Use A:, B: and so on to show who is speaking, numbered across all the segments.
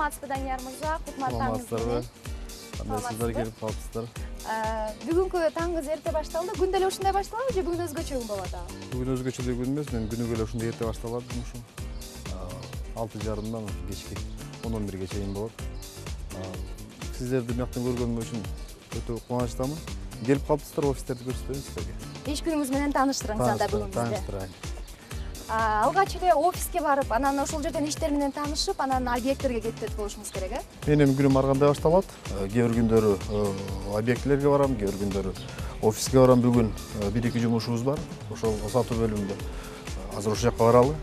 A: Саламатсызбы, Данияр мырза? Кутман таңыңыз менен.
B: Кандай сыздар келип калыпсыздар?
A: Бүгүнкү таңыңыз эрте башталды. Күн деле ушундай башталабы же бүгүн өзгөчө күн болот абы?
B: Бүгүн өзгөчө күн эмес, мен күнүгө эле ушундай эрте башталат жумушум. 6:30 кечки 11-ге чейин болот. Сиздерди бияктан көргөнүм үчүн өтө кубанычтамын. Келип калыпсыздар, офистерди көрсөтөйүн сиздерге.
A: Иш күнүңүз менен тааныштырыңыз анда бүгүн бизди.
B: Тааныштырайын.
A: Алгач эле офиске барып, анан ошол жерден иштер менен таанышып, анан объекттерге кетет болушуңуз керек, э?
B: Менин күнүм ар кандай башталат. Кээ бир күндөрү объектилерге барам, кээ бир күндөрү офиске барам. Бүгүн 1-2 жумушубуз бар. Ошол сатуу бөлүмүндө азыр ошол жака баралы.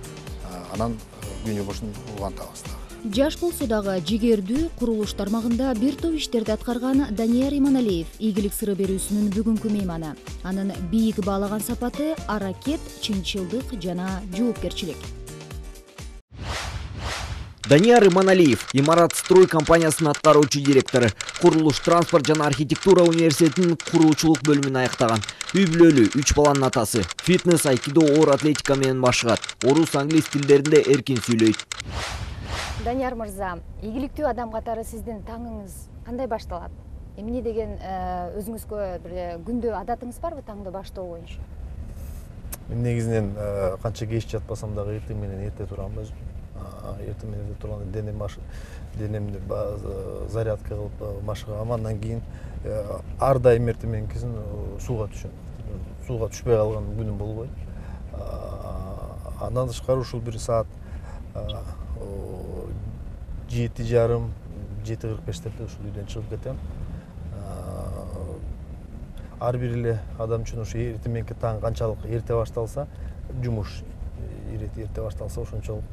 B: Анан күн жумушун улантабыз.
C: Жаш болсо дагы жигердүү курулуш тармагында бир топ иштерди аткарган Данияр Иманалиев ийгилик сыры берүүсүнүн бүгүнкү мейманы. Анын бийик баалаган сапаты аракет, чынчылдык жана жоопкерчилик.
D: Данияр Иманалиев, Имарат строй компаниясынын аткаруучу директору, курулуш, транспорт жана архитектура университетинин куруучулук бөлүмүн аяктаган. Үй бүлөлүү, 3 баланын атасы. Фитнес, айкидо, оор атлетика менен башкат. Орус, англис тилдеринде эркин сүйлөйт.
A: Данияр мырза, ийгиликтүү адам катары сиздин таңыңыз кандай башталат? Эмне деген өзүңүзгө бир күндө адатыңыз барбы таңды баштоо боюнча?
E: Мен негизинен канча кеч жатпасам дагы эртең менен эрте турам. Эртең менен эрте турганда денемди зарядка кылып машыгам. Андан кийин ар дайым эртең менен кийин сууга түшөм. Сууга түшпөй калган күнүм болбойт. Андан тышкары ушул бир саат 7:30, 7:45 ушул үйдөн чыгып кетем. Ар бир эле адам үчүн ушу эртең мененки таң канчалык эрте башталса, жумуш эрте башталса, ошончолук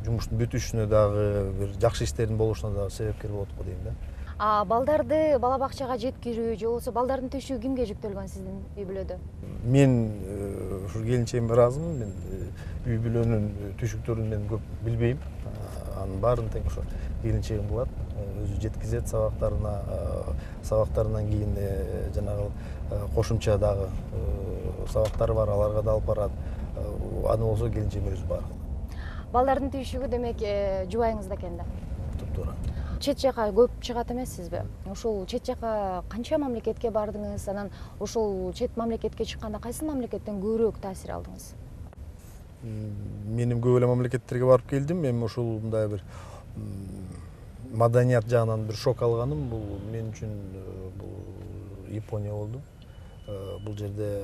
E: жумуштун бүтүшүнө дагы бир жакшы иштердин болушуна дагы себепкер болот го дейм да.
A: Балдарды бала бакчага жеткирүү же болбосо балдардын төшүгү кимге жүктөлгөн сиздин үй бүлөдө?
E: Мен ушул келинчегимге ыраазымын. Мен үй бүлөнүн түшүктөрүн мен көп билбейм. Анын баарын тең ошо келинчегим кылат. Өзү жеткизет сабактарынан кийин жанагы кошумча дагы сабактары бар, аларга да алып барат. Аны болсо келинчегим өзү баары кылат.
A: Балдардын түйшүгү демек жубайыңызда экен да.
E: Туура.
A: Чет жака көп чыгат эмессизби? Ошол чет жака канча мамлекетке бардыңыз? Анан ошол чет мамлекетке чыкканда кайсы мамлекеттен көбүрөөк таасир алдыңыз?
E: Менин көп эле мамлекеттерге барып келдим. Мен ушул мындай бир маданият жагынан бир шок алганым. Бул мен үчүн бул Япония болду. Бул жерде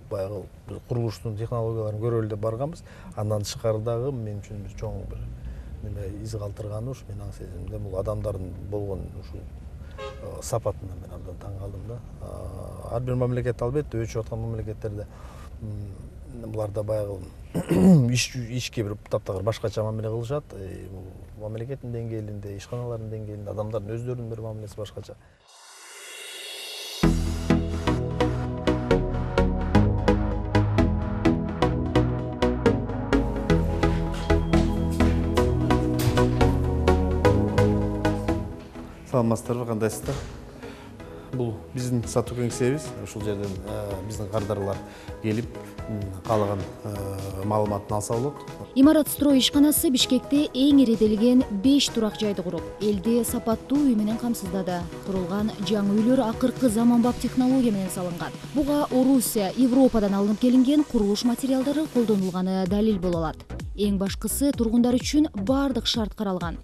E: баягы курулуштун технологияларын көрөлү деп барганбыз. Андан тышкары дагы мен үчүн бир чоң бир из калтырганы ушу менин сезимимде бул адамдардын болгон ушул сапатына мен абдан таң калдым да. Ар бир мамлекет албетте өчүп аткан мамлекеттерде буларда баягы ишке бир таптагыр башкача мамиле кылышат. Бул мамлекеттин деңгээлинде, ишканалардын деңгээлинде адамдардын өздөрүнүн бир мамилеси башкача.
B: Саламатсыздарбы, кандайсыздар? Бул биздин сатуу кеңсебиз. Ушул жерден биздин кардарлар келип, каалаган маалыматын алса болот.
C: Имарат строй ишканасы Бишкекте эң иретелген 5 турак жайды куруп, элди сапаттуу үй менен камсыздады. Курулган жаңы үйлөр акыркы заманбап технология менен салынган. Буга Орусия, Европадан алынып келинген курулуш материалдары колдонулганы далил боло алат. Эң башкысы тургундар үчүн бардык шарт каралган.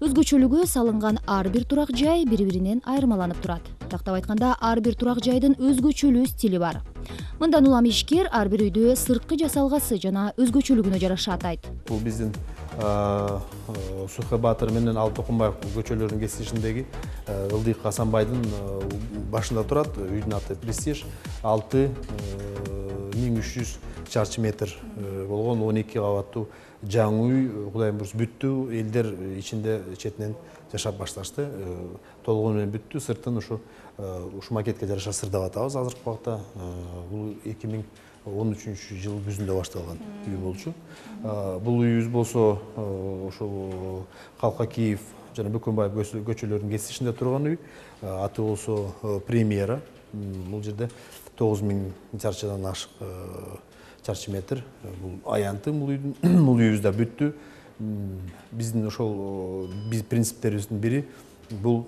C: Өзгөчөлүгү салынган ар бир турак жай бири-биринен айырмаланып турат. Тактап айтканда, ар бир турак жайдын өзгөчөлүү стили бар. Мындан улам ишкер ар бир үйдү сырткы жасалгасы жана өзгөчөлүгүнө жараша атайт.
B: Бул биздин Сухай Батыр менен Алтыкумбаев көчөлөрүнүн кесишиндеги Ылдык Асанбайдын башында турат. Үйдүн аты Престиж. 6300 чарчы метр болгон 12 кабаттуу жаңы үй, Кудайым буйруса бүттү. Элдер ичинде четинен жашап башташты. Толугу менен бүттү. Сыртын ушу макетке жараша сырдап атабыз азыркы убакта. Бул 2013-жылы күзүндө башталган үй болчу. Бул үйүбүз болсо ошол Калка Киев жана Бөкөнбаев көчөлөрүнүн кесишинде турган үй. Аты болсо Премьера. Бул жерде 9000 чарчыдан ашык чарчы метр. Бул аянты бул үйүбүз да бүттү. биздин ошол биз принциптерибиздин бири бул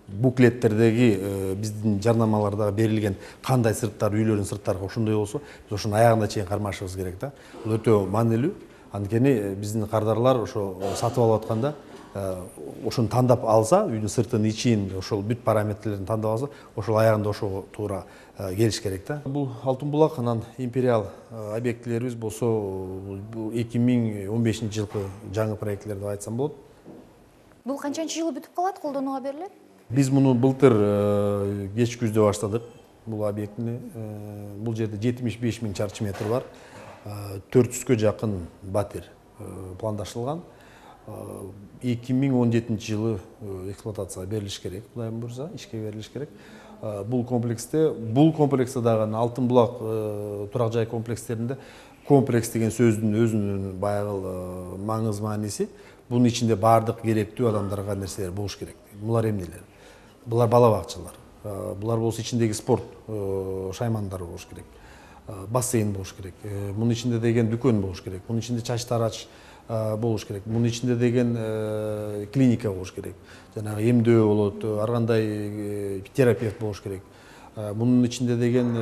B: буклеттердеги биздин жарнамалардагы берилген кандай сырттар үйлөрдүн сырттары ошондой болсо биз ошонун аягына чейин кармашыбыз керек да. Бул өтө маанилүү. Анткени биздин кардарлар ошо сатып алып атканда ошону тандап алса, үйдүн сыртын, ичин, ошол бүт параметрлерин тандап алса, ошол аягында ошого туура келиш керек да. Бул Алтын булак, анан империал объектилерибиз болсо 2015 жылкы жаңы проектлер деп айтсам болот.
A: Бул канчанчы жылы бүтүп калат, колдонууга берилет?
B: Биз муну былтыр кеч күздө баштадык. Бул объектини бул жерде 75 000 чарчы метр бар. 400-кө жакын батир пландашылган. 2017 жылы эксплуатацияга берилиш керек, Кудайым буйрса, ишке берилиш керек. Бул комплекста дагы Алтын булак турак жай комплекстеринде комплекс деген сөздүн өзүнүн баягы маңыз мааниси. Bunun içinde bardıq gerektүү адамдарга нерселер болуш керек. Булар эмнелер? Булар бала бакчалар. Булар болсо içindеги спорт шаймандары болуш керек. Бассейн болуш керек. Bunun içinde деген дүкөн болуш керек. Bunun içinde чач тарач болуш керек. Bunun içinde деген клиника болуш керек. Жанагы эмдөө болот, ар кандай терапевт болуш керек. Bunun içinde деген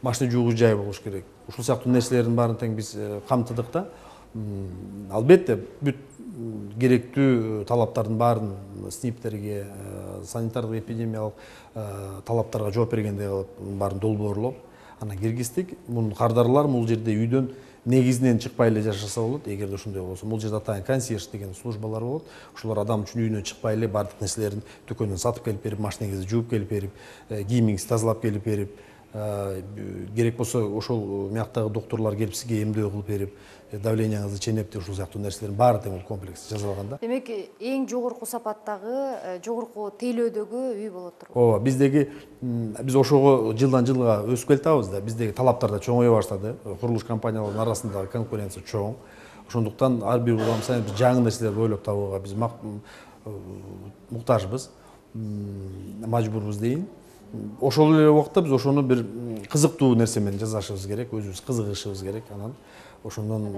B: машина жуугуч жай болуш керек. Ушул сыяктуу нерселердин баарын тең биз камтыдык да. Албетте бүт керектүү талаптардын баарын СНИПтерге, санитардык эпидемиялык талаптарга жооп бергендей кылып баарын долбоорлоп анан киргиздик. Мунун кардарлар бул жерде үйдөн негизинен чыкпай эле жашаса болот. Эгерде ошондой болсо, бул жерде атайын консьерж деген службалар болот. Ошолор адам үчүн үйүнөн чыкпай эле бардык нерселерин дүкөндөн сатып келип берип, машинеңизди жууп келип берип, кийимиңизди тазалап келип берип, керек болсо ошол мияктагы докторлор келип сизге эмдөө кылып берип, давлениеңизди ченептеп, ушул сыяктуу нерселердин баары тең бул комплекс жасалган да.
A: Демек, эң жогорку сапаттагы, жогорку тейлөөдөгү үй болот турбу?
B: Ооба, биз ошого жылдан жылга өсүп келатабыз да. Биздеги талаптар да чоңое баштады. Курулуш компанияларынын арасындагы конкуренция чоң. Ошондуктан ар бир курган сайын жаңы нерселерди ойлоп табууга биз муктажбыз, мажбурбуз дейин. Ошол эле убакта биз ошону бир кызыктуу нерсе менен жасашыбыз керек, өзүбүз кызыгышыбыз керек. Анан ошондон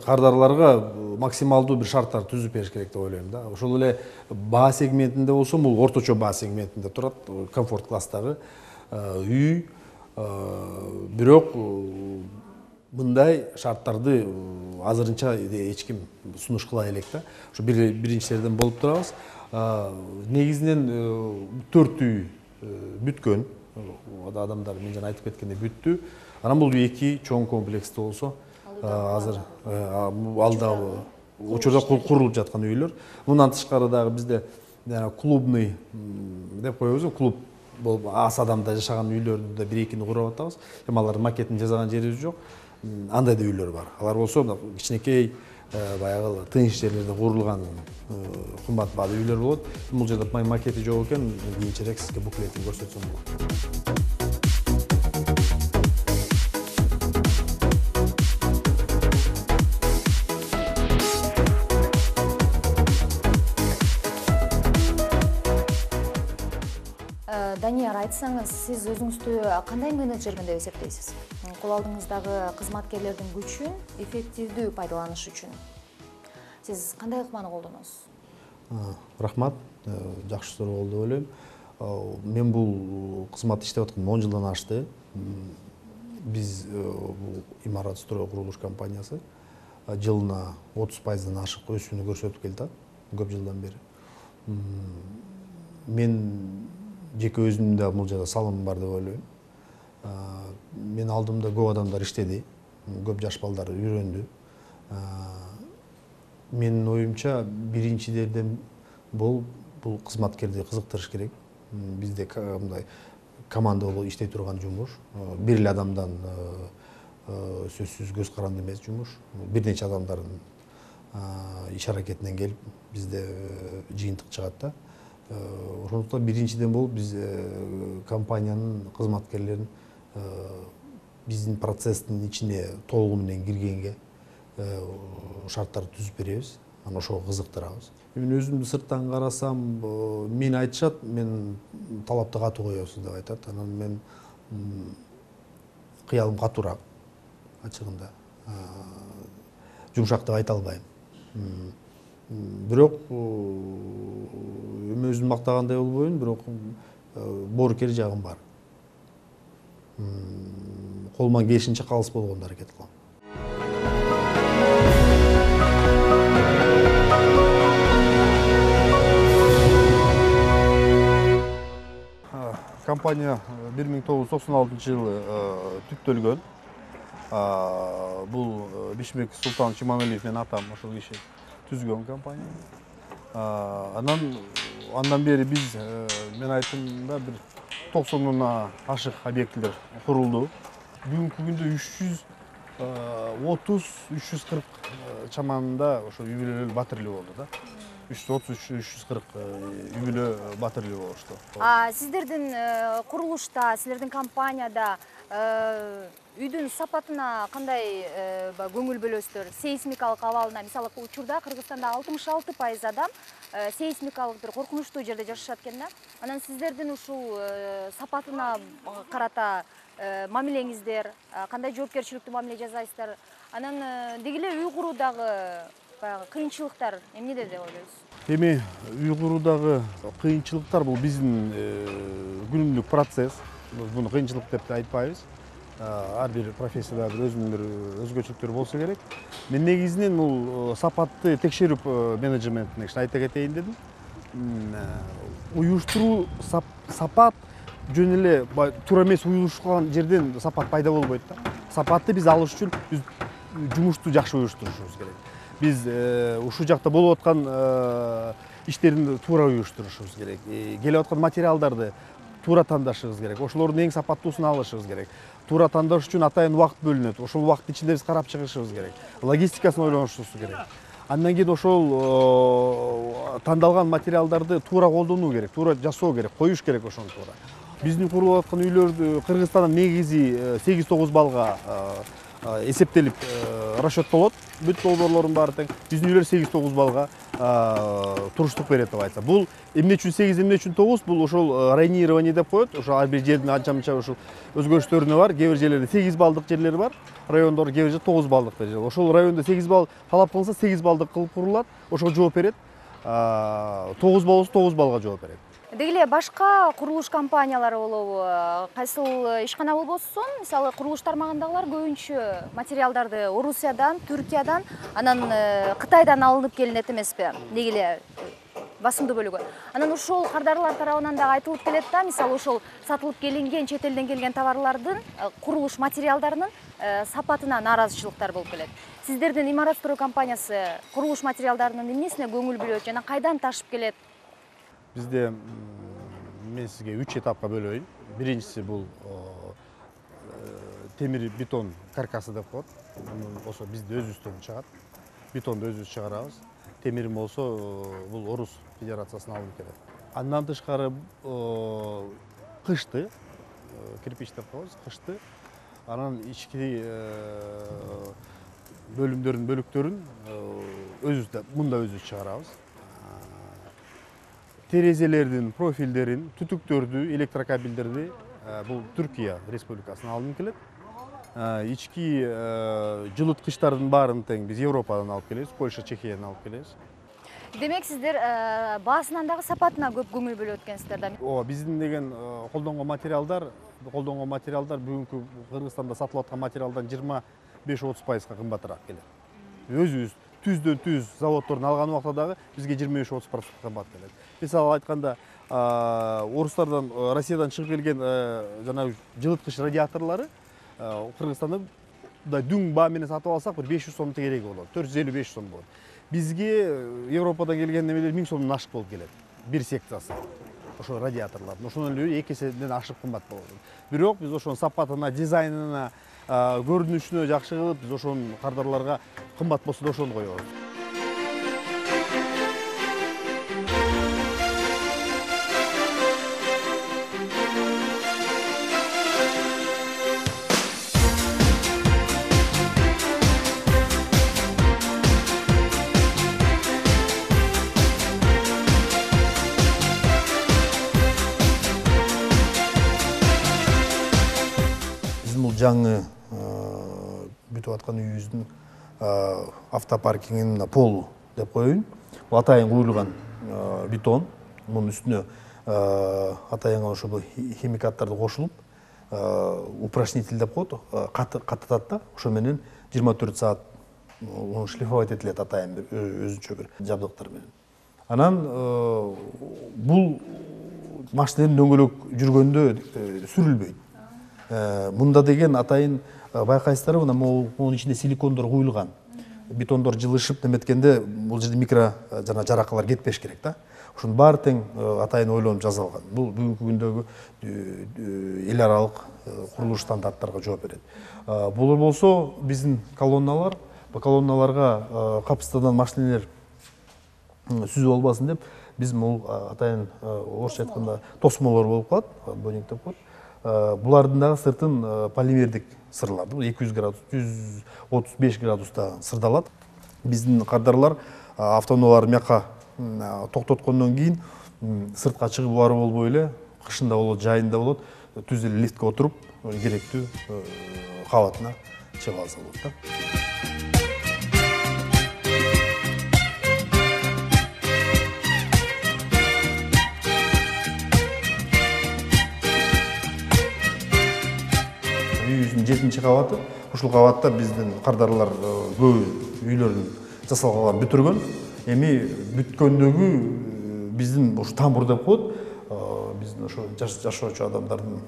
B: кардарларга максималдуу бир шарттар түзүп бериш керек деп ойлойм да. Ошол эле баа сегментинде болсо, бул орточо баа сегментинде турат, комфорт класстагы үй. Бирок мындай шарттарды азырынча эч ким сунуш кыла элек да. Ошо биринчилерден болуп турабыз. Негизинен 4 үй бүткөн. Адамдар мен жана айтып кеткендей бүттү. Анан бул 2 чоң комплекстүү болсо, азыр алда учурда курулуп жаткан үйлөр. Мындан тышкары дагы бизде клубный деп коебуз, клуб болуп аз адамда жашаган үйлөрдү да 1-2 куруп атабыз. Эми алардын макетин жасаган жерибиз жок. Андай да үйлөр бар. Алар болсо кичинекей баягы тыныч жерлерде курулган кымбат баалуу үйлөр болот. Бул жерде макети жок экен, кийинчерээк сизге буклетин көрсөтсөм болот.
A: Данияр, айтсаңыз, сиз өзүңүздү кандай менеджермин деп эсептейсиз? Кол алдыңыздагы кызматкерлердин күчүн эффективдүү пайдаланыш үчүн сиз кандай ыкманы колдоносуз?
B: Рахмат, жакшы суроо болду деп ойлойм. Мен бул кызматты иштеп атканыма 10 жылдан ашты. Биз бул имарат строй курулуш компаниясы жылына 30%дан ашык өсүүнү көрсөтүп келатат көп жылдан бери. Мен жеке өзүмдүн да бул жерде салымым бар деп ойлойм. Мен алдымда көп адамдар иштеди, көп жаш балдар үйрөндү. Менин оюмча биринчиден бул кызматкерди кызыктырыш керек. Бизде мындай команда болуп иштей турган жумуш, бир эле адамдан сөзсүз көз каранды эмес жумуш. Бир нече адамдардын иш аракетинен келип бизде жыйынтык чыгат да. Ошондуктан биринчиден болуп биз компаниянын кызматкерлерин биздин процесстин ичине толугу менен киргенге шарттарды түзүп беребиз. Анан ошого кызыктырабыз. Мен өзүмдү сырттан карасам, мени айтышат, мен талапты катуу коесуз деп айтат. Анан мен кыялым катуураак ачыгында. жумшак деп айта албайм. Бирок эми өзүм мактагандай болбойм, бирок боорукер жагым бар. Колуман келишинче калыс болгонго аракет кылам. Компания 1996 жылы түптөлгөн. Бул Бишмек Султанович Иманалиев менен атам ошол киши түзгөн компания. Андан бери биз мен айттым да бир 90 ашык объектилер курулду. Бүгүнкү күндө 330-340 чаманында ошо үй бүлөлөр батирлүү болду да. 330-340 үй бүлө батирлүү болушту.
A: Сиздердин курулушта, силердин компанияда үйдүн сапатына кандай көңүл бөлөсүздөр? Сейсмикалык абалына, мисалы учурда Кыргызстанда 66% адам сейсмикалык бир коркунучтуу жерде жашашат экен да. Анан сиздердин ушул сапатына карата мамилеңиздер, кандай жоопкерчиликтүү мамиле жасайсыздар? Анан деги эле үй куруудагы кыйынчылыктар эмнеде деп ойлойсуз?
B: Эми үй куруудагы кыйынчылыктар бул биздин күнүмдүк процесс. Буну кыйынчылык деп айтпайбыз. Ар бир профессияда бир өзүнүн бир өзгөчөлүктөрү болсо керек. Мен негизинен бул сапатты текшерүү менеджментине айта кетейин дедим. Уюштуруу сапат жөн эле туура эмес уюштурулган жерден сапат пайда болбойт да. Сапатты биз алыш үчүн биз жумушту жакшы уюштурушубуз керек. Биз ушул жакта болуп аткан иштерди туура уюштурушубуз керек. Келип аткан материалдарды туура тандашыбыз керек. Ошолордун эң сапаттуусун алышыбыз керек. Туура тандаш үчүн атайын убакыт бөлүнөт. Ошол убакыт ичинде биз карап чыгышыбыз керек. Логистикасын ойлонушубуз керек. Андан кийин ошол тандалган материалдарды туура колдонуу керек, туура жасоо керек, коюш керек ошону туура. Биздин курулуп аткан үйлөрдү Кыргызстандан негизи 8-9 балга эсептелип расчеттолот. Бүт долбоорлордун баары тең. Биздин үйлөр 8-9 балга туруштук берет деп айтса. Бул эмне үчүн 8, эмне үчүн 9? Бул ошол районирование деп коет. Ошо ар бир жердин анча-мынча ошол өзгөрүштөрүнө бар. Кээ бир жерлерде 8 балдык жерлери бар. Райондор кээ бир жерде 9 балдык жер. Ошол райондо 8 балл талап кылынса 8 балдык кылып курулат. Ошого жооп берет. 9 болсо 9 балга жооп берет.
A: Деги эле башка курулуш компаниялары болобу, кайсыл ишкана болбосун, мисалы курулуш тармагындагылар көбүнчө материалдарды Орусиядан, Түркиядан, анан Кытайдан алынып келинет эмеспи? Деги эле басымдуу бөлүгү. Анан ошол кардарлар тарабынан да айтылып келет да, мисалы ошол сатылып келинген, чет элден келген товарлардын, курулуш материалдарынын сапатына нааразычылыктар болуп келет. Сиздердин имарат строй компаниясы курулуш материалдарынын эмнесине көңүл бөлөт жана кайдан ташып келет?
B: Бизде мен сизге 3 этапка бөлөйүн. Биринчиси бул темир бетон каркасы деп коет. Болсо бизде өзүбүздөн чыгат. Бетонду өзүбүз чыгарабыз. Темирин болсо бул Орус Федерациясынан алынып келет. Андан тышкары кышты, кирпич деп коебуз, кышты. Анан ички бөлүктөрүн өзүбүз мында өзүбүз чыгарабыз. Терезелердин профилдерин, түтүктөрдү, электрокабелдерди бул Түркия Республикасынан алынып келет. Ички жылыткычтардын баарын тең биз Европадан алып келебиз, Польша, Чехиядан алып келебиз.
A: Демек сиздер баасынан дагы сапатына көп көңүл бөлөп өткөнсүздөр да.
B: Биздин деген колдонгон материалдар бүгүнкү Кыргызстанда сатылып аткан материалдан 25-30% кымбатыраак келет. Өзүбүз түздөн түз заводдордун алган убакта дагы бизге 25-30% кымбат келет. Мисалы айтканда, орустардан, Россиядан чыгып келген жанагы жылыткыч радиаторлору Кыргызстанда дүң баа менен сатып алсак бир 500 сом кереги болот. 450-500 сом болот. Бизге Европадан келген немелер 1000 сомдон ашык болуп келет. Бир секциясы. Ошо радиаторлордун. Ошонун эле 2 эседен ашык кымбат болот. Бирок биз ошонун сапатына, дизайнына, көрүнүшүнө жакшы кылып, биз ошонун кардарларга кымбат болсо да ошону коебуз. Жаңы
E: бүтүп аткан үйүбүздүн автопаркингинин полу деп коеюн. Бул атайын куюлган бетон. Мунун үстүнө атайын ошо химикаттарды кошулуп, упрашнитель деп коет, катытат да, ошо менен 24 саат шлифовать этилет атайын өзүнчө бир жабдыктар менен. Анан бул машиненин дөңгөлөк жүргөндө сүрүлбөйт. Мында деген атайын байкайсыздарбы, мунун ичинде силикондор куюлган. Бетондор жылышып неметкенде бул жерде микро жана жаракалар кетпеш керек да. Ушунун баары тең атайын ойлонуп жасалган. Бул бүгүнкү күндөгү эл аралык курулуш стандарттарга жооп берет. Бул болсо биздин колонналар, бул колонналарга капсыздадан машинелер сүзүп албасын деп биз бул атайын орусча айтканда тосмолор болуп калат, боник деп коет. Булардын дагы сыртын полимердик сырлар. Бул 200 градус, 135 градуста сырдалат. Биздин кардарлар автоунааларды мякка токтоткондон кийин сыртка чыгып барып болбой эле, кышында болот, жайында болот, түз эле лифтке отуруп керектүү кабатына чыгып алса болот да. Үйүбүздүн 7-кабаты. Ушул кабатта биздин кардарлар көбү үйлөрүн жасалганын бүтүргөн. Эми бүткөндөгү биздин ушу тамбур деп коет. Биздин ошо жашоочу адамдардын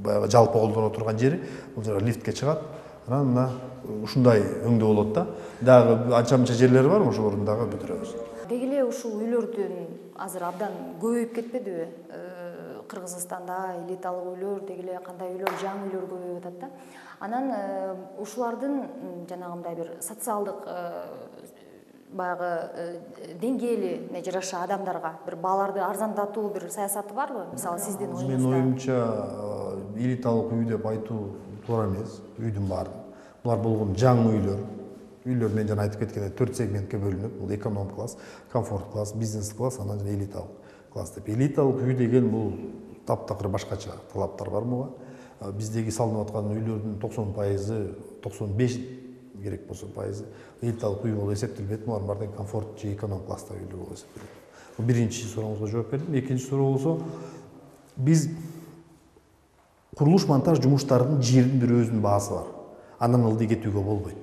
E: баягы жалпы колдоно турган жери. Бул жерге лифтке чыгат. Анан мына ушундай өңдө болот да. Дагы анча-мынча жерлери бар, ошолорун дагы бүтүрөбүз.
A: Деги эле ушул үйлөрдүн азыр абдан көбөйүп кетпедиби? Кыргызстанда элиталык үйлөр, деги эле кандай үйлөр, жаңы үйлөр көбөйүп атат да. Анан ушулардын жанагындай бир социалдык баягы деңгээли жараша адамдарга бир бааларды арзандатуу бир саясаты барбы? Мисалы сиздин оюңузда.
E: Менин оюмча элиталык үй деп айтуу туура эмес. Үйдүн баары. Булар болгон жаңы үйлөр. Үйлөр мен жана айтып кеткендей 4 сегментке бөлүнөт. Бул эконом класс, комфорт класс, бизнес класс, анан жана элиталык класс деп. Элиталык үй деген бул таптакыр башкача талаптар бар буга. Биздеги салынып аткан үйлөрдүн 90%, 95 керек болсо пайызы элиталык үй болуп эсептелбейт. Булар бардыгы комфорт же эконом класстагы үйлөр болуп эсептелет. Бул биринчи сурооңузга жооп бердим. Экинчи суроо болсо, биз курулуш монтаж жумуштарынын жердин бир өзүнүн баасы бар. Андан ылдый кетүүгө болбойт.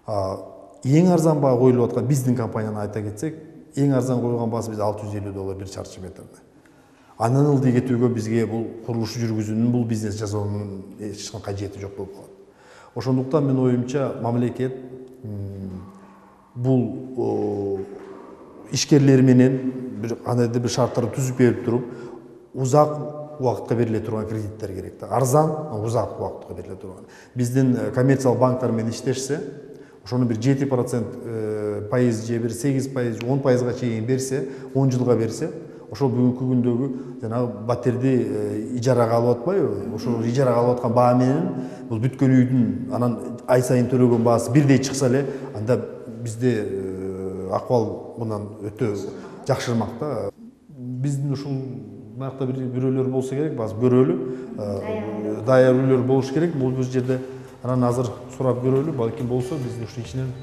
E: Эң арзан баа коюлуп аткан биздин компанияны айта кетсек, эң арзан койгон баасы биз $650 бир чарчы метрде. Андан ылдый кетүүгө бизге бул курулуш жүргүзүүнүн, бул бизнес жасоонун эч кандай кажети жок болуп калат. Ошондуктан мен оюмча мамлекет бул ишкерлер менен кандайдыр бир шарттарды түзүп берип туруп, узак убакытка бериле турган кредиттер керек да. Арзан, узак убакытка бериле турган. Биздин коммерциялык банктар менен иштешсе, ошону бир 7% пайыз же бир 8%, 10%га чейин берсе, 10 жылга берсе, ошол бүгүнкү күндөгү жанагы батирди ижарага алып атпайбы? Ошол ижарага алып аткан баа менен бул бүткөн үйдүн анан ай сайын төлөгөн баасы бирдей чыкса эле, анда бизде акыбал мындан өтө жакшырмак да. Биздин ушул буякта бирөөлөр болсо керек, баасы көрөлү, даяр үйлөр болуш керек. Бул жерде анан азыр сурап көрөлү, балким болсо биздин ушул ичинен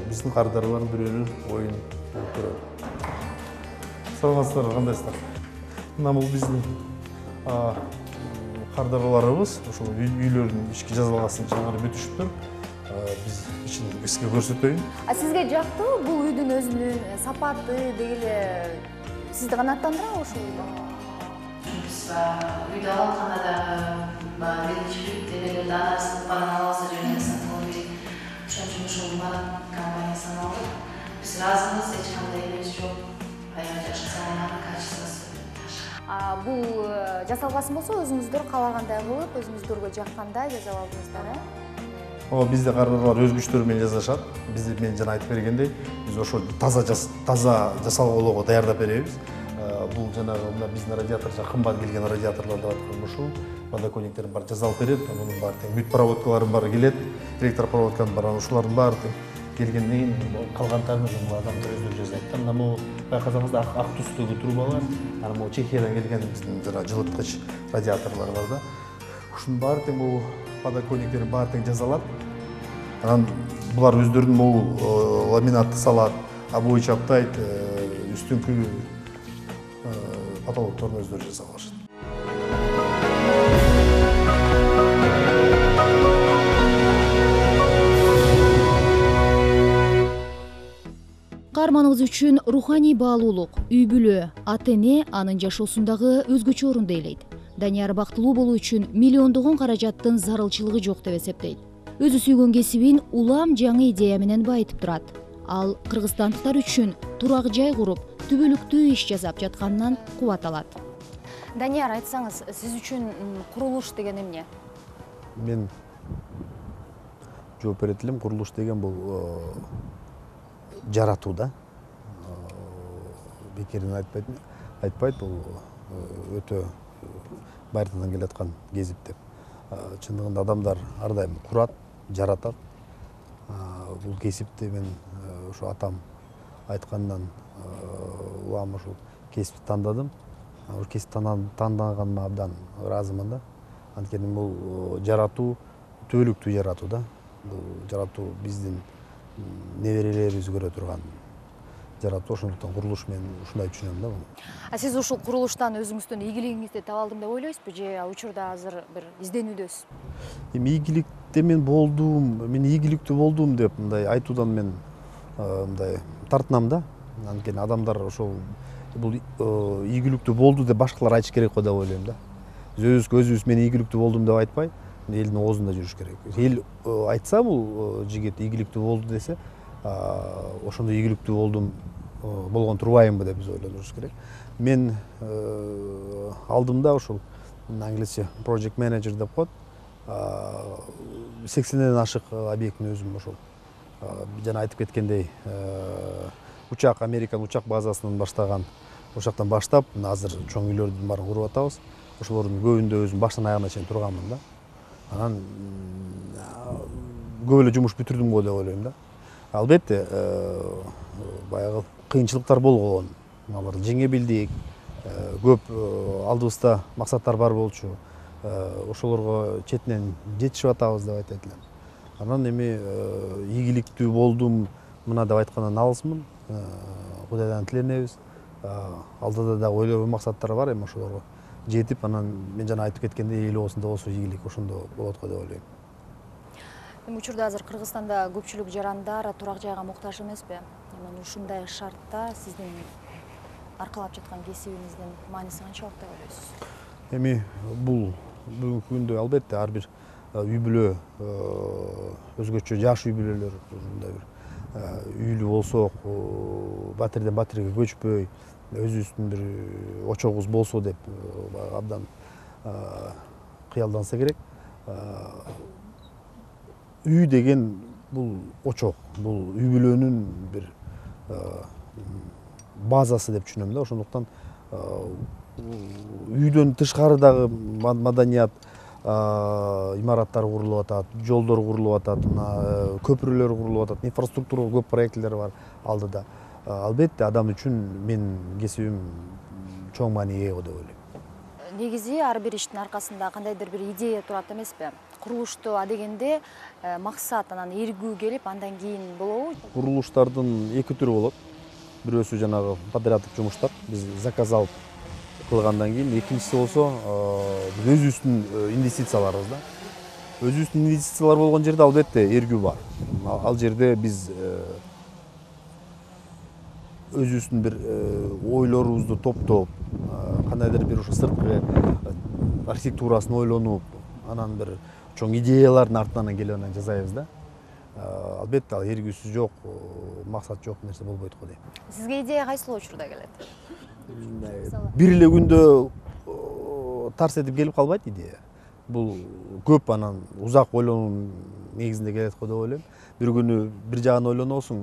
E: биздин кардарлардын бирөөнүн оюн болуп көрөлү. Саламатсыздар, кандайсыздар? Мына бул биздин кардарларыбыз, ошол үйлөрдүн ички жазалгасын чыгарып бүтүшүптүр. Биз ичин сизге көрсөтөйүн.
A: Сизге жактыбы бул үйдүн өзүнүн сапаты, деги эле сизди канааттандырабы ушул үйдө?
F: Биз үйдө алганда дагы биринчи бүттөлөрдө анасын баран албаса жерден сатып алып берейин. Ошон үчүн ушул Марат компаниясынан алдык. Биз ыраазыбыз, эч кандай эмес жок.
A: Бул жасалгасын болсо өзүңүздөр каалагандай кылып, өзүңүздөргө жаккандай жасап алдыңыздар,
E: Ооба, бизде кардарлар өз күчтөрү менен жасашат. Биз мен жана айтып бергендей, биз ошо таза жасалгоого даярдап беребиз. Бул жанагы мына биздин радиатор, кымбат келген радиаторлор деп аткан ушул подоконниктердин баары жасалып берет. Мунун баары тең бүт проводкалардын баары келет, электропроводканын баары, ушулардын баары тең келгенден кийин калгандарын ошол адамдар өздөрү жасайт да. Мына бул байкасаңыздар ак түстөгү трубалар, анан бул Чехиядан келген биздин жана жылыткыч радиаторлор бар да.
B: ушунун баары тең бул подоконниктердин баары тең жасалат. Анан булар өздөрүнүн могу ламинатты салат, обои чаптайт, үстүңкү потолокторун өздөрү жасап алышат.
C: Каарманыбыз үчүн руханий баалуулук, үй бүлө, ата-эне анын жашоосундагы өзгөчө орунду ээлейт. Данияр бактылуу болуу үчүн миллиондогон каражаттын зарылчылыгы жок деп эсептейт. Өзү сүйгөн кесибин улам жаңы идея менен байытып турат. Ал кыргызстандыктар үчүн турак жай куруп, түбөлүктүү иш жасап жатканынан кубат алат.
A: Данияр, айтсаңыз, сиз үчүн курулуш деген эмне?
E: Мен жооп берет элем. Курулуш деген бул жаратуу да. Бекерден айтпайт, бул өтө байыртадан келаткан кесип деп. Чындыгында адамдар ар дайым курат, жаратат. Бул кесипти мен ошо атам айткандан улам ушул кесипти тандадым. Ошол кесипти тандаганыма абдан ыраазымын да. Анткени бул жаратуу, түбөлүктүү жаратуу да. Бул жаратуу биздин неберелерибиз көрө турган жаратуу. Ошондуктан курулуш мен ушундай түшүнөм да муну.
A: Сиз ушул курулуштан өзүңүздүн ийгилигиңизди таба алдым деп ойлойсузбу же учурда азыр бир изденүүдөсүз?
E: Эми ийгиликте мен ийгиликтүү болдум деп мындай айтуудан мен мындай тартынам да. Анткени адамдар ошол бул ийгиликтүү болду деп башкалар айтыш керек го деп ойлойм да. Биз өзүбүз мен ийгиликтүү болдум деп айтпай, элдин оозунда жүрүш керек. Эл айтса бул жигит ийгиликтүү болду десе, ошондо ийгиликтүү болгон турбайбы деп биз ойлонуш керек. Мен алдымда ушул англисче project manager деп коет. 80ден ашык объектини өзүм ошол жана айтып кеткендей Американ учак базасынан баштаган, ошоктон баштап азыр чоң үйлөрдүн баарын куруп атабыз. Ошолордун көбүндө өзүм баштан аягына чейин турганмын да. Анан көп эле жумуш бүтүрдүм го деп ойлойм да. Албетте баягы кыйынчылыктар болгон, аларды жеңе билдик. Көп алдыбызда максаттар бар болчу. Ошолорго четинен жетишип атабыз деп айтат элем. Анан эми ийгиликтүү болдум мына деп айткандан алысмын. Кудайдан тиленебиз. Алдыда да ойлогон максаттар бар, эми ошолорго жетип, анан мен жана айтып кеткендей эл оозунда болсо ийгилик ошондо болот го деп ойлойм.
A: Эми учурда азыр Кыргызстанда көпчүлүк жарандар турак жайга муктаж эмеспи? Анан ушундай шартта сиздин аркалап жаткан кесибиңиздин мааниси канчалык деп ойлойсуз?
E: Эми бул бүгүнкү күндө албетте ар бир үй бүлө өзгөчө жаш үй бүлөлөр ушундай бир үйлүү болсок, батирден батирге көчпөй, өзүбүздүн бир очогубуз болсо деп абдан кыялданса керек. Үй деген бул очок, бул үй бүлөнүн бир базасы деп түшүнөм да. Ошондуктан үйдөн тышкары дагы маданият имараттар курулуп атат, жолдор курулуп атат, көпүрөлөр курулуп атат, инфраструктура көп проекттер бар алдыда. Албетте адам үчүн менин кесибим чоң мааниге ээ деп ойлойм.
A: Негизи ар бир иштин аркасында кандайдыр бир идея турат эмеспи? Курулушту адегенде максат анан эргүү келип, андан кийин болобу?
E: Курулуштардын эки түрү болот. Бирөөсү жанагы подряддык жумуштар, биз заказ алып кылгандан кийин, экинчиси болсо өзүбүздүн инвестицияларыбыз да. Өзүбүздүн инвестициялар болгон жерде албетте эргүү бар. Ал жерде биз өзүбүздүн бир ойлорубузду топтоп, кандайдыр бир ушу сырткы архитектурасын ойлонуп, анан бир чоң идеялардын артынан келип анан жасайбыз да. Албетте ал эргүүсүз жок, максат жок нерсе болбойт го дейм.
A: Сизге идея кайсыл учурда келет?
E: Бир эле күндө тарс этип келип калбайт идея. Бул көп анан узак ойлонуунун негизинде келет го деп ойлойм. Бир күнү бир жагын ойлоносуң,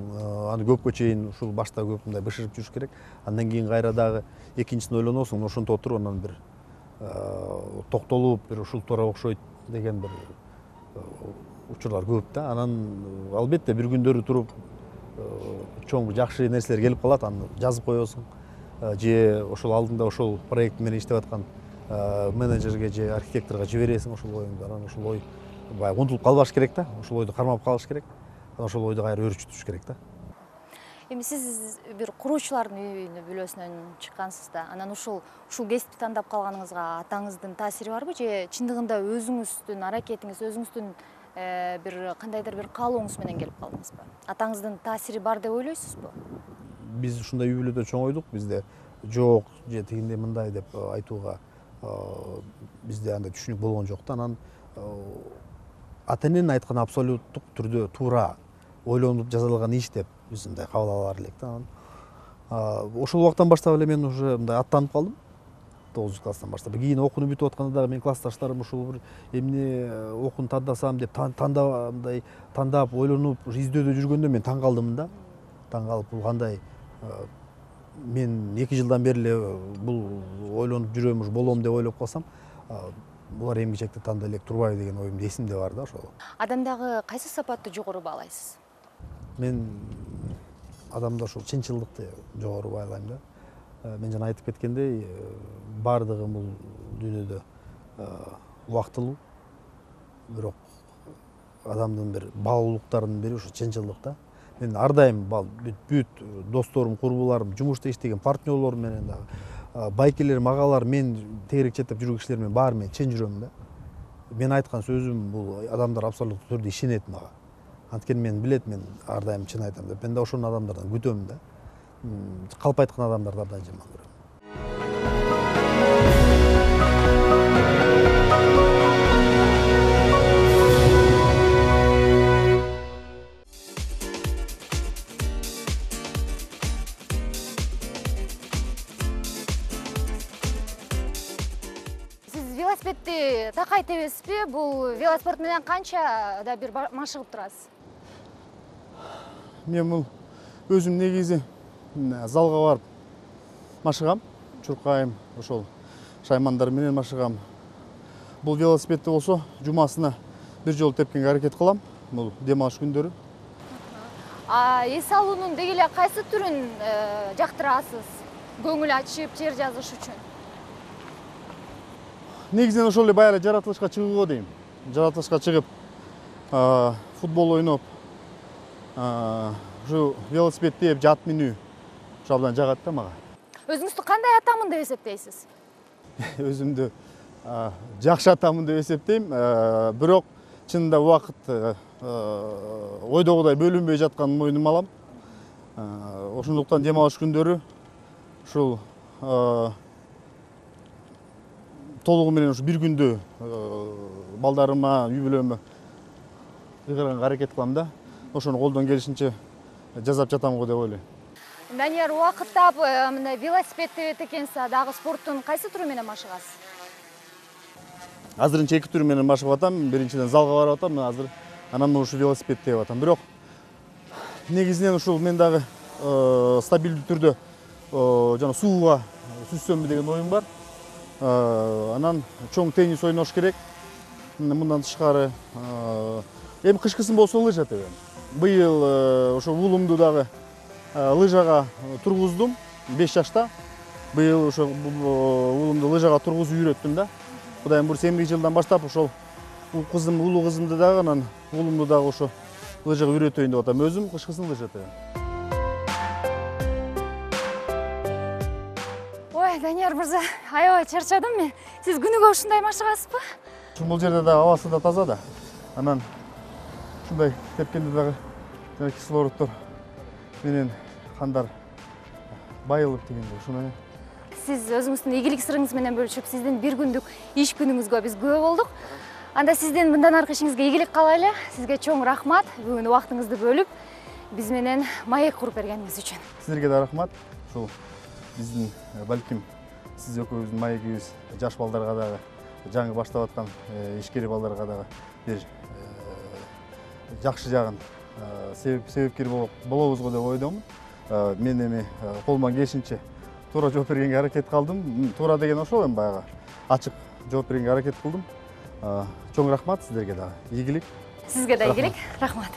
E: аны көпкө чейин ушул башта көп мындай бышырып жүрүш керек. Андан кийин кайра дагы экинчисин ойлоносуң, ошонто отуруп анан бир токтолуп, бир ушултуура окшойт деген бир учурлар көп да. Анан албетте бир күндөрү туруп чоң жакшы нерселер келип калат, аны жазып коесуң. Же ошол алдында ошол проект менен иштеп аткан менеджерге же архитекторго жибересиң ошол оюңду. Анан ошол ой баягы унутулуп калбаш керек да. Ошол ойду кармап калыш керек. Анан ошол ойду кайра өөрчүтүш керек да.
A: Эми сиз бир куруучулардын үйүнө бүлөсүнөн чыккансыз да. Анан ушул кесипти тандап калганыңызга атаңыздын таасири барбы же чындыгында өзүңүздүн аракетиңиз, өзүңүздүн бир кандайдыр бир каалооңуз менен келип калдыңызбы? Атаңыздын таасири бар деп ойлойсузбу?
E: Биз ушундай үй бүлөдө чоңойдук. Бизде жок же тигиндей мындай деп айтууга бизде андай түшүнүк болгон жок да. Анан ата-эненин айтканы абсолюттук түрдө туура ойлонуп жасалган иш деп биз мындай кабыл ала элек да. Ошол убактан баштап эле мен уже мындай аттанып калдым. 9 класстан баштап. Кийин окууну бүтүп атканда дагы мен классташтарым ушул бир эмне окууну тандасам деп тандап ойлонуп издөөдө жүргөндө мен таң калдым да. Таң калып, бул кандай мен 2 жылдан бери эле бул ойлонуп жүрөм, уж болом деп ойлоп калсам, булар эмгичекти тандай элек турбайбы деген оюм эсимде бар да ошол.
A: Адамдагы кайсы сапатты жогору баалайсыз?
E: Мен адамда ошол чынчылдыкты жогору баалайм да. Мен жана айтып кеткендей, бардыгы бул дүйнөдө убактылуу. Бирок адамдын бир баалуулуктарынын бири ошо чынчылдык да. Мен ар дайым бүт досторум, курбуларым, жумушта иштеген партнерлорум менен дагы байкелерим, агалар, мен тегерек четтеп жүргөн кишилер менен баары мен чын жүрөм да. Мен айткан сөзүм бул адамдар абсолюттуу түрдө ишенет мага. Анткени мен билет, мен ар дайым чын айтам деп. Мен да ошол адамдардан күтөм да. Калп айткан адамдарды абдан жаман көрөм.
A: Сиз велосипедди такай тебесизби? Бул велоспорт менен канча да бир машыгып турасыз?
G: Мен бул өзүм негизи залга барып машыгам, чуркайм, ошол шаймандар менен машыгам. Бул велосипедди болсо жумасына бир жолу тепкенге аракет кылам. Бул дем алыш күндөрү.
A: Эс алуунун деги эле кайсы түрүн жактырасыз? Көңүл ачып, жер жазыш үчүн?
G: Негизинен ошол эле баягы жаратылышка чыгууга дейм. Жаратылышка чыгып, футбол ойноп, ушу велосипед тээп жат минүү ушу абдан жагат да мага.
A: Өзүңүздү кандай атамын деп эсептейсиз?
G: Өзүмдү жакшы атамын деп эсептейм. Бирок чынында убакыт ойдогудай бөлүнбөй жатканын мойнума алам. Ошондуктан дем алыш күндөрү ушул толугу менен ушу бир күндө балдарыма, үй бүлөмө ыйгарганга аракет кылам да. Ошону колдон келишинче жасап жатам го деп ойлойм.
A: Данияр, убакыттап мындай велосипед тебет экенсиз, дагы спорттун кайсы түрү менен машыгасыз?
G: Азырынча 2 түрү менен машыгып атам. Биринчиден залга барып атам, азыр анан ушу велосипед тебип атам. Бирок негизинен ушул мен дагы стабилдүү түрдө жана сууга сүзсөмбү деген оюм бар. Анан чоң теннис ойнош керек. Мындан тышкары эми кышкысын болсо лыжа тебем. Быйыл ошо уулумду дагы лыжага тургуздум 5 жашта. Быйыл ошо уулумду лыжага тургузуп үйрөттүм да. Кудайым буйруса эмгек жылдан баштап ошол улуу кызымды дагы анан уулумду дагы ошо лыжага үйрөтөйүн деп атам. Өзүм кышкысын лыжа тебем.
A: Ой, Данияр мырза, аябай чарчадым мен. Сиз күнүгө ушундай машыгасызбы?
G: Бул жерде да абасы да таза да. Анан ушундай тепкенде дагы жана кислороддор менен кандар байылып дегенде ушуну.
A: Сиз өзүңүздүн ийгилик сырыңыз менен бөлүшүп, сиздин бир күндүк иш күнүңүзгө биз күбө болдук. Анда сиздин мындан аркы ишиңизге ийгилик каалайлы. Сизге чоң рахмат бүгүн убактыңызды бөлүп биз менен маек куруп бергениңиз үчүн.
G: Силерге да рахмат. Ушул биздин балким сиз экөөбүздүн маегибиз жаш балдарга дагы, жаңы баштап аткан ишкер балдарга дагы бир жакшы жагын себепкер болобузго деп ойдомун. Мен эми колуман келишинче туура жооп бергенге аракет кылдым. Туура деген ошол эми баягы ачык жооп бергенге аракет кылдым. Чоң рахмат сиздерге дагы. Ийгилик.
A: Сизге да ийгилик. Рахмат.